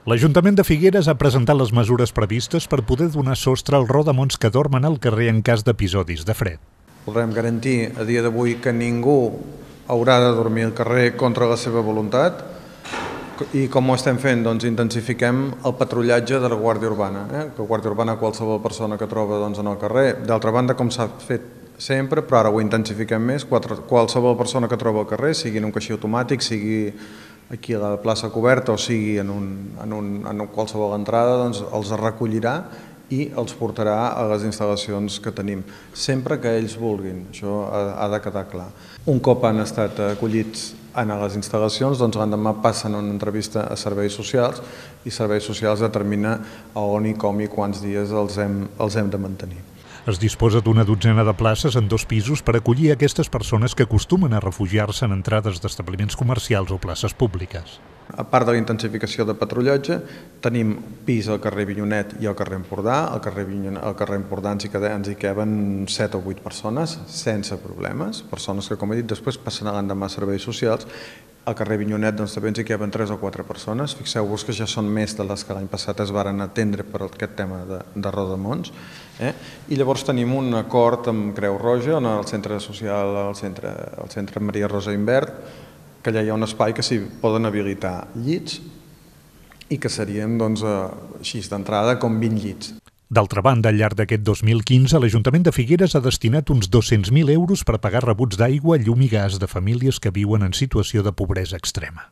L'Ajuntament de Figueres ha presentat les mesures previstes per poder donar sostre als rodamons que dormen al carrer en cas d'episodis de fred. Volem garantir a dia d'avui que ningú haurà de dormir al carrer contra la seva voluntat i com ho estem fent? Doncs intensifiquem el patrullatge de la Guàrdia Urbana, que la Guàrdia Urbana qualsevol persona que troba en el carrer. D'altra banda, com s'ha fet sempre, però ara ho intensifiquem més, qualsevol persona que troba al carrer, sigui en un caixer automàtic, sigui aquí a la plaça coberta o sigui en qualsevol entrada, doncs els recollirà i els portarà a les instal·lacions que tenim, sempre que ells vulguin, això ha de quedar clar. Un cop han estat acollits a les instal·lacions, doncs l'endemà passen una entrevista a Serveis Socials i Serveis Socials determina a on i com i quants dies els hem de mantenir. Es disposa d'una dotzena de places en 2 pisos per acollir aquestes persones que acostumen a refugiar-se en entrades d'establiments comercials o places públiques. A part de la intensificació de patrullatge, tenim pis al carrer Vinyonet i al carrer Empordà. Al carrer Empordà ens hi caben 7 o 8 persones, sense problemes, persones que, com he dit, després passen l'endemà a Serveis Socials. Al carrer Vinyonet també ens hi caben 3 o 4 persones. Fixeu-vos que ja són més de les que l'any passat es varen atendre per aquest tema de rodamons. I llavors tenim un acord amb Creu Roja, on el centre social, el centre Maria Rosa Invert, que allà hi ha un espai que s'hi poden habilitar llits i que serien, així d'entrada, com 20 llits. D'altra banda, al llarg d'aquest 2015, l'Ajuntament de Figueres ha destinat uns 200.000 euros per pagar rebuts d'aigua, llum i gas de famílies que viuen en situació de pobresa extrema.